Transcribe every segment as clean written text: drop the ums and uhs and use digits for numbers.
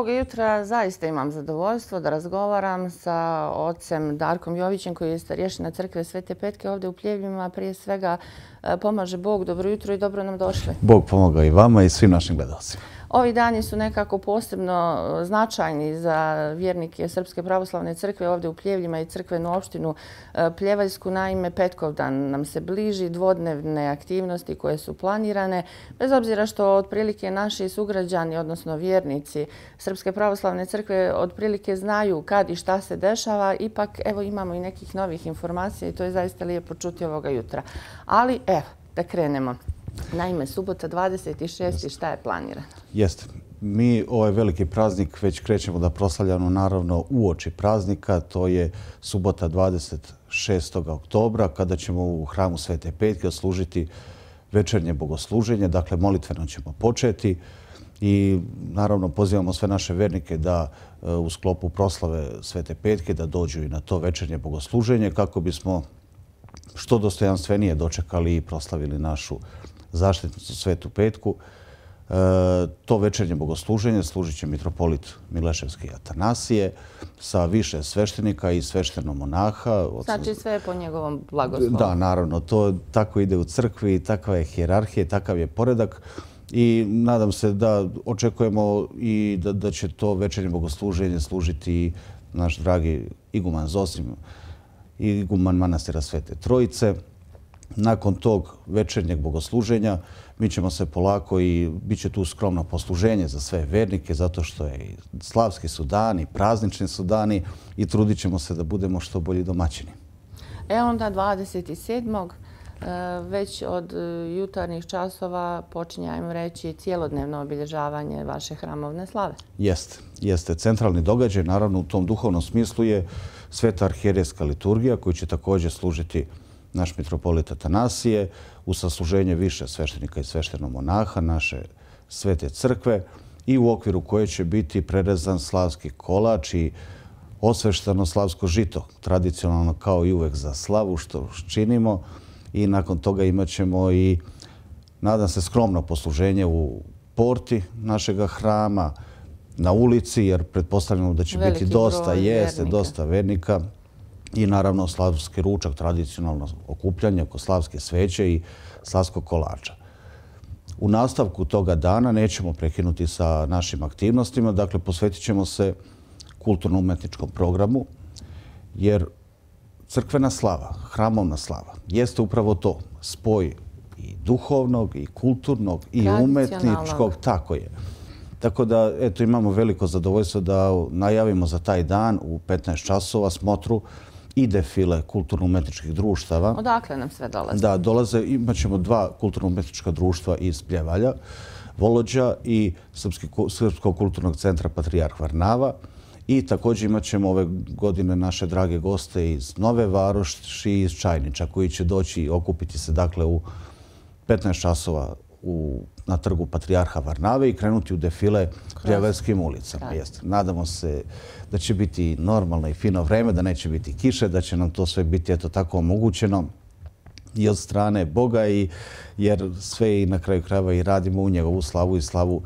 Ovoga jutra zaista imam zadovoljstvo da razgovaram sa ocem Darkom Jovićem, koji je starješina crkve Svete Petke ovdje u Pljevljima. Prije svega pomaže Bog. Dobro jutro i dobro nam došli. Bog pomaga i vama i svim našim gledalcima. Ovi dani su nekako posebno značajni za vjernike Srpske pravoslavne crkve ovdje u Pljevljima i crkvenu opštinu Pljevaljsku. Naime, Petkovdan nam se bliži, dvodnevne aktivnosti koje su planirane. Bez obzira što otprilike naši sugrađani, odnosno vjernici Srpske pravoslavne crkve otprilike znaju kad i šta se dešava, ipak evo imamo i nekih novih informacija i to je zaista lijepo čuti ovoga jutra. Ali evo, da krenemo. Naime, subota 26. šta je planirano? Jeste. Mi ovaj veliki praznik već krećemo da proslavljamo naravno uoči praznika. To je subota 26. oktobra kada ćemo u hramu Svete Petke odslužiti večernje bogosluženje. Dakle, molitveno ćemo početi i naravno pozivamo sve naše vernike da u sklopu proslave Svete Petke da dođu i na to večernje bogosluženje kako bismo što dostojanstvenije dočekali i proslavili našu zaštitnicu Svetu Petku. To večernje bogosluženje služit će mitropolit Mileševski Atanasije sa više sveštenika i sveštenomonaha. Znači sve je po njegovom blagoslovu. Da, naravno. To tako ide u crkvi, takva je hijerarhija, takav je poredak. I nadam se da očekujemo i da će to večernje bogosluženje služiti naš dragi iguman Zosim, iguman manastira Svete Trojice. Nakon tog večernjeg bogosluženja mi ćemo se polako i bit će tu skromno posluženje za sve vernike zato što je i slavski su dani, praznični su dani i trudit ćemo se da budemo što bolji domaćini. Onda 27. već od jutarnjih časova počinje, ajmo reći, cijelodnevno obilježavanje vaše hramovne slave. Jeste. Centralni događaj, naravno u tom duhovnom smislu je Sveta arhijerejska liturgija koju će također služiti naš mitropolit Atanasije u sasluženje više sveštenika i sveštenomonaha naše Svete crkve i u okviru koje će biti prerezan slavski kolač i osvešteno slavsko žito, tradicionalno kao i uvek za slavu što činimo. I nakon toga imat ćemo i, nadam se, skromno posluženje u porti našega hrama, na ulici, jer pretpostavljamo da će biti dosta vernika. I naravno slavski ručak, tradicionalno okupljanje oko slavske sveće i slavskog kolača. U nastavku toga dana nećemo prekinuti sa našim aktivnostima, dakle posvetit ćemo se kulturno-umetničkom programu, jer crkvena slava, hramovna slava, jeste upravo to, spoj i duhovnog, i kulturnog, i umetničkog, tako je. Tako da, eto, imamo veliko zadovoljstvo da najavimo za taj dan u 15 časova smotru i defile kulturno-umetničkih društava. Odakle nam sve dolaze? Da, dolaze. Imaćemo dva kulturno-umetnička društva iz Pljevalja, Volođa i Srpskog kulturnog centra Patrijarh Varnava. I također imat ćemo ove godine naše drage goste iz Nove Varoši i iz Čajniča koji će doći i okupiti se dakle u 15 časova na trgu Patrijarha Varnave i krenuti u defile Pljevaljskim ulicama. Nadamo se da će biti normalno i fino vreme, da neće biti kiše, da će nam to sve biti eto tako omogućeno i od strane Boga, jer sve i na kraju krajeva i radimo u njegovu slavu i slavu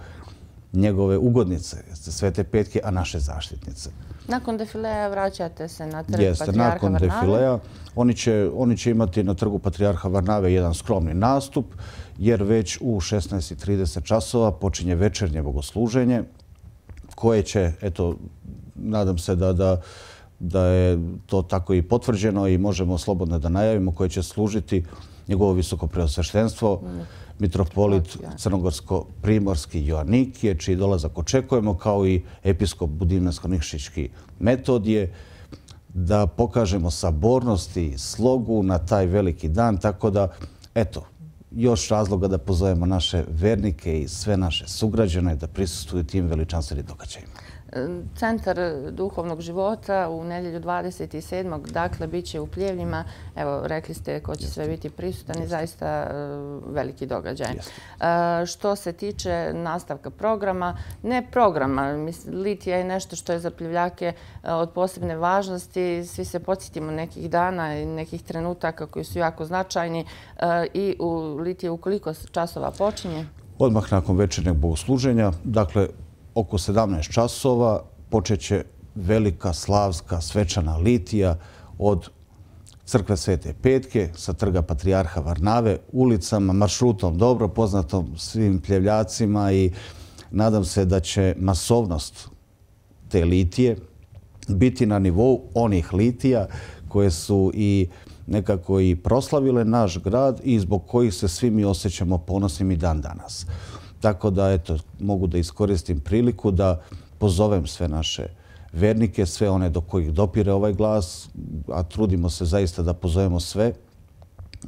njegove ugodnice, Svete Petke, a naše zaštitnice. Nakon defileja vraćate se na trg Patrijarha Varnave? Nakon defileja oni će imati na trgu Patrijarha Varnave jedan skromni nastup, jer već u 16:30 časova počinje večernje bogosluženje koje će, eto, nadam se da je to tako i potvrđeno i možemo slobodno da najavimo, koje će služiti njegovo visoko preosveštenstvo, mitropolit Crnogorsko-Primorski Joanikije, čiji dolazak očekujemo, kao i episkop Budimljansko-Nikšićki Metodije, da pokažemo sabornost i slogu na taj veliki dan. Tako da, eto, još razloga da pozovemo naše vernike i sve naše sugrađane da prisustvuju tim veličanstvenim događajima. Centar duhovnog života u nedjelju 27. dakle, bit će u Pljevljima. Evo, rekli ste ko će sve biti prisutan i zaista veliki događaj. Što se tiče nastavka programa, ne programa, litija je nešto što je za Pljevljake od posebne važnosti. Svi se podsjetimo nekih dana i nekih trenutaka koji su jako značajni. I u litije u koliko časova počinje? Odmah nakon večernjeg bogosluženja, dakle, oko 17 časova počet će velika slavska svečana litija od crkve Svete Petke sa trga Patrijarha Varnave, ulicama, maršrutom dobro poznatom svim pljevljacima i nadam se da će masovnost te litije biti na nivou onih litija koje su i nekako i proslavile naš grad i zbog kojih se svi mi osjećamo ponosnim i dan danas. Tako da, eto, mogu da iskoristim priliku da pozovem sve naše vernike, sve one do kojih dopire ovaj glas, a trudimo se zaista da pozovemo sve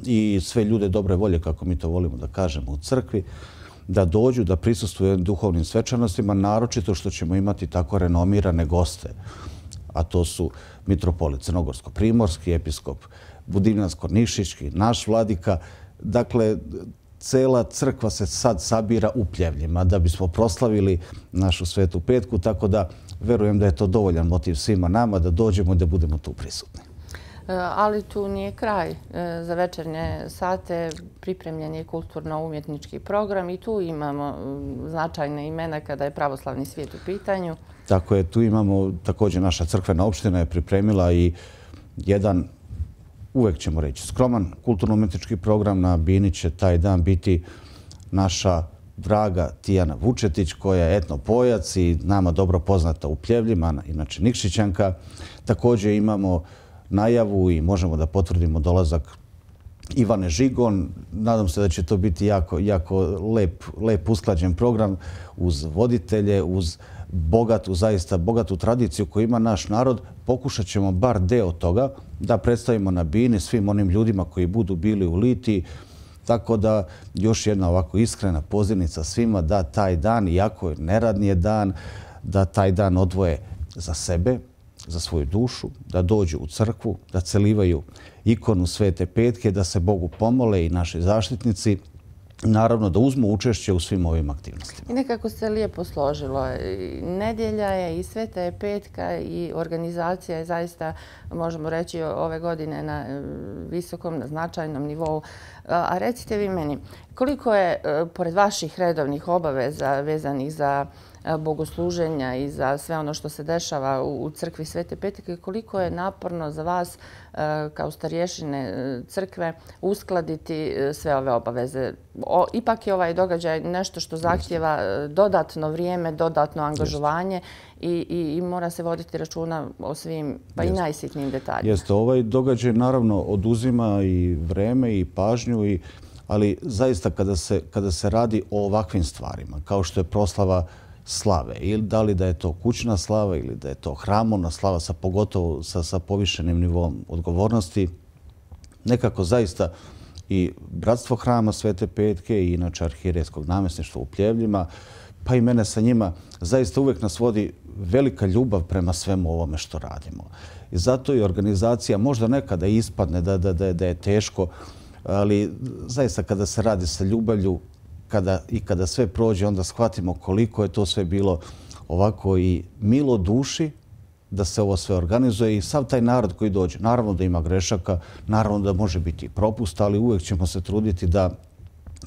i sve ljude dobre volje, kako mi to volimo da kažemo u crkvi, da dođu, da prisustvuju duhovnim svečanostima, naročito što ćemo imati tako renomirane goste, a to su mitropolit Crnogorsko-Primorski, episkop Budimljansko-Nišićki, naš vladika. Dakle, cela crkva se sad sabira u Pljevljima da bismo proslavili našu Svetu Petku, tako da verujem da je to dovoljan motiv svima nama da dođemo i da budemo tu prisutni. Ali tu nije kraj. Za večernje sate pripremljen je kulturno-umjetnički program i tu imamo značajne imena kada je pravoslavni svijet u pitanju. Tako je, tu imamo također naša crkvena opština je pripremila i jedan, uvek ćemo reći, skroman kulturno-umjetnički program. Na bini će taj dan biti naša draga Tijana Vučetić, koja je etnopojac i nama dobro poznata u Pljevljima, inače Nikšićanka. Također imamo najavu i možemo da potvrdimo dolazak Ivane Žigon. Nadam se da će to biti jako lep usklađen program uz voditelje, uz zaista bogatu tradiciju koju ima naš narod. Pokušat ćemo bar deo toga da predstavimo na bini svim onim ljudima koji budu bili u litiji. Tako da još jedna ovako iskrena pozivnica svima da taj dan, iako je neradni dan, da taj dan odvoje za sebe, za svoju dušu, da dođu u crkvu, da celivaju ikonu Svete Petke, da se Bogu pomole i naši zaštitnici, naravno da uzmu učešće u svim ovim aktivnostima. I nekako se lijepo složilo. Nedjelja je i Sveta je Petka i organizacija je zaista, možemo reći, ove godine na visokom, na značajnom nivou. A recite vi meni, koliko je, pored vaših redovnih obaveza vezanih za bogosluženja i za sve ono što se dešava u crkvi Svete Petke, koliko je naporno za vas kao starješine crkve uskladiti sve ove obaveze? Ipak je ovaj događaj nešto što zahtjeva dodatno vrijeme, dodatno angažovanje i mora se voditi računa o svim, pa i najsitnijim detaljima. Jeste, ovaj događaj naravno oduzima i vreme i pažnju, ali zaista kada se radi o ovakvim stvarima, kao što je proslava slave, ili da li da je to kućna slava ili da je to hramovna slava, pogotovo sa povišenim nivom odgovornosti, nekako zaista i Bratstvo hrama Svete Petke i inače arhijerejskog namjesništva u Pljevljima, pa i mene sa njima, zaista uvijek nas vodi velika ljubav prema svemu ovome što radimo. I zato i organizacija možda nekada ispadne da je teško, ali zaista kada se radi sa ljubavlju i kada sve prođe, onda shvatimo koliko je to sve bilo ovako i milo duši da se ovo sve organizuje i sav taj narod koji dođe. Naravno da ima grešaka, naravno da može biti propust, ali uvijek ćemo se truditi da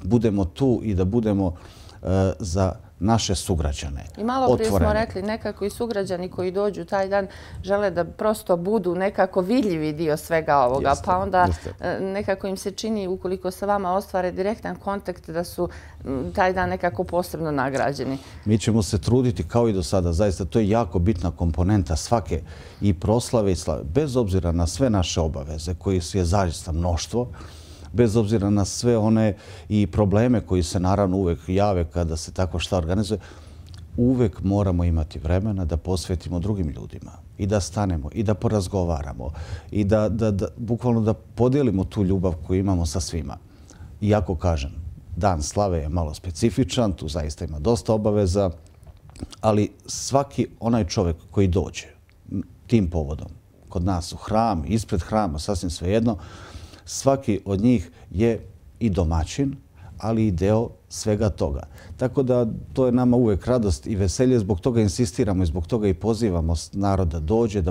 budemo tu i da budemo za naše sugrađane. I malo prije smo rekli, nekako i sugrađani koji dođu taj dan žele da prosto budu nekako vidljivi dio svega ovoga, pa onda nekako im se čini, ukoliko sa vama ostvare direktan kontakt, da su taj dan nekako posebno nagrađeni. Mi ćemo se truditi kao i do sada. Zaista, to je jako bitna komponenta svake i proslave i slave. Bez obzira na sve naše obaveze, koji je zaista mnoštvo, bez obzira na sve one i probleme koji se naravno uvek jave kada se tako šta organizuje, uvek moramo imati vremena da posvetimo drugim ljudima i da stanemo i da porazgovaramo i da bukvalno da podijelimo tu ljubav koju imamo sa svima. Iako kažem, dan slave je malo specifičan, tu zaista ima dosta obaveza, ali svaki onaj čovjek koji dođe tim povodom kod nas u hram, ispred hrama, sasvim svejedno, svaki od njih je i domaćin, ali i deo svega toga. Tako da to je nama uvek radost i veselje, zbog toga insistiramo i zbog toga i pozivamo narod da dođe,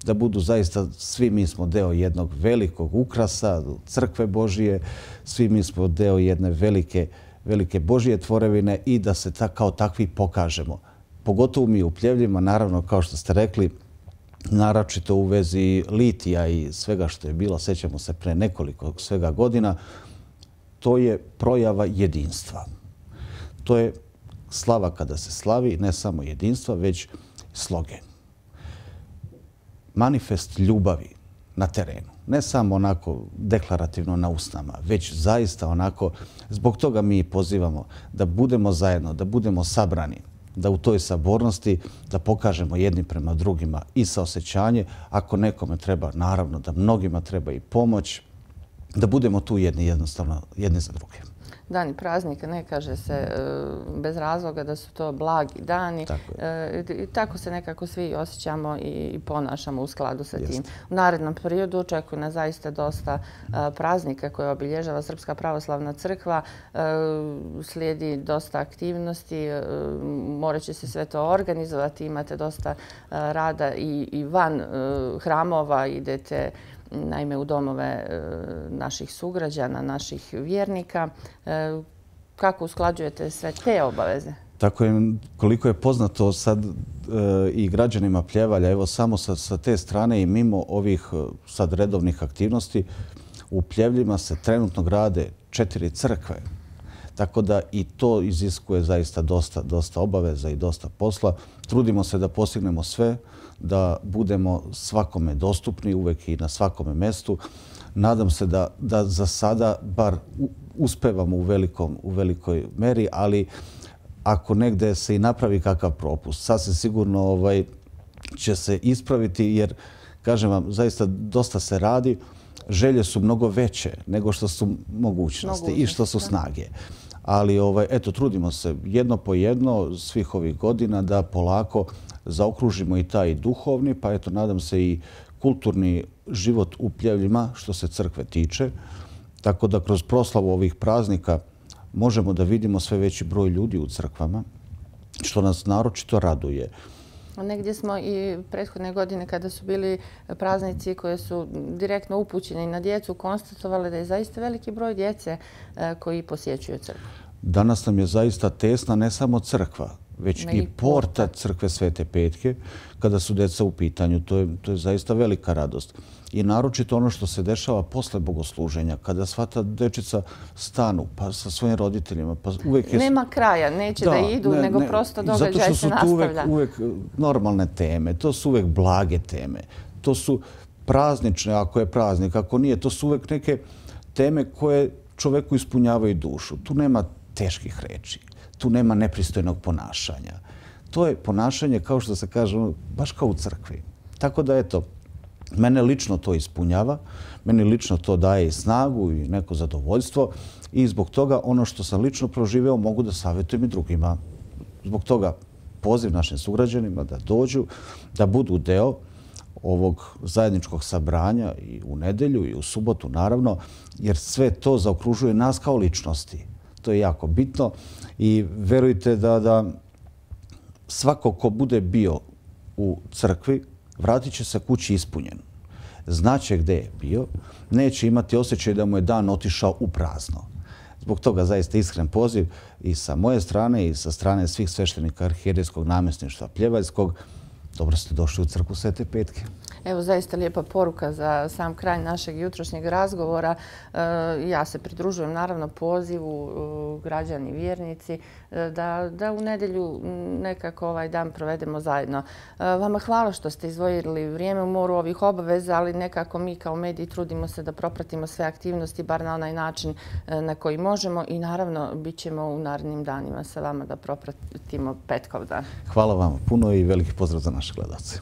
da budu zaista, svi mi smo deo jednog velikog ukrasa, crkve Božije, svi mi smo deo jedne velike Božije tvorevine i da se kao takvi pokažemo. pogotovo mi u Pljevljima, naravno, kao što ste rekli, naročito u vezi litija i svega što je bilo, sećamo se pre nekoliko svega godina, to je projava jedinstva. To je slava kada se slavi, ne samo jedinstva, već sloge. Manifest ljubavi na terenu. Ne samo onako deklarativno na usnama, već zaista onako, zbog toga mi pozivamo da budemo zajedno, da budemo sabrani, da u toj sabornosti da pokažemo jedni prema drugima i saosećanje. Ako nekome treba, naravno da mnogima treba i pomoć, da budemo tu jednostavno jedni za druge. Dani praznika, ne kaže se bez razloga da su to blagi dani. I tako se nekako svi osjećamo i ponašamo u skladu sa tim. U narednom periodu očekuje nas zaista dosta praznika koje obilježava Srpska pravoslavna crkva. Slijedi dosta aktivnosti, morat će se sve to organizovati. Imate dosta rada i van hramova, idete naime u domove naših sugrađana, naših vjernika. Kako usklađujete sve te obaveze? Tako je, koliko je poznato sad i građanima Pljevalja, evo samo sa te strane i mimo ovih sad redovnih aktivnosti, u Pljevljima se trenutno grade 4 crkve. Tako da i to iziskuje zaista dosta obaveza i dosta posla. Trudimo se da postignemo sve, da budemo svakome dostupni, uvek i na svakome mestu. Nadam se da za sada bar uspevamo u velikoj meri, ali ako negde se i napravi kakav propust, sasvim sigurno će se ispraviti, jer, kažem vam, zaista dosta se radi. Želje su mnogo veće nego što su mogućnosti i što su snage. Ali, eto, trudimo se jedno po jedno svih ovih godina da polako zaokružimo i taj duhovni, pa eto, nadam se i kulturni život u Pljevljima što se crkve tiče. Tako da kroz proslavu ovih praznika možemo da vidimo sve veći broj ljudi u crkvama, što nas naročito raduje. Negdje smo i prethodne godine kada su bili praznici koje su direktno upućeni na djecu konstatovali da je zaista veliki broj djece koji posjećuju crkvu. Danas nam je zaista tesna ne samo crkva, već i porta crkve Svete Petke kada su djeca u pitanju. To je zaista velika radost. I naročito ono što se dešava posle bogosluženja, kada sva ta dečica stanu pa sa svojim roditeljima. Nema kraja, neće da idu, nego prosto događaj se nastavlja. Zato što su uvek normalne teme, to su uvek blage teme. To su praznične, ako je praznik, ako nije. To su uvek neke teme koje čoveku ispunjavaju dušu. Tu nema teških reči, tu nema nepristojnog ponašanja. To je ponašanje, kao što se kaže, baš kao u crkvi. Tako da, eto, mene lično to ispunjava, meni lično to daje i snagu i neko zadovoljstvo i zbog toga ono što sam lično proživeo mogu da savjetujem i drugima. Zbog toga poziv našim sugrađanima da dođu, da budu deo ovog zajedničkog sabranja i u nedelju i u subotu, naravno, jer sve to zaokružuje nas kao ličnosti. To je jako bitno i verujte da svako ko bude bio u crkvi vratit će se kući ispunjen. Znaće gde je bio, neće imati osjećaj da mu je dan otišao u prazno. Zbog toga zaista iskren poziv i sa moje strane i sa strane svih sveštenika arhijerejskog namjesništva Pljevaljskog. Dobro ste došli u crkvu Svete Petke. Evo, zaista lijepa poruka za sam kraj našeg jutrošnjeg razgovora. Ja se pridružujem naravno pozivu građani vjernici da u nedjelju nekako ovaj dan provedemo zajedno. Vama hvala što ste izdvojili vrijeme u moru ovih obaveza, ali nekako mi kao mediji trudimo se da propratimo sve aktivnosti, bar na onaj način na koji možemo i naravno bit ćemo u narednim danima sa vama da propratimo Petkov dan. Hvala vam puno i veliki pozdrav za naše gledalce.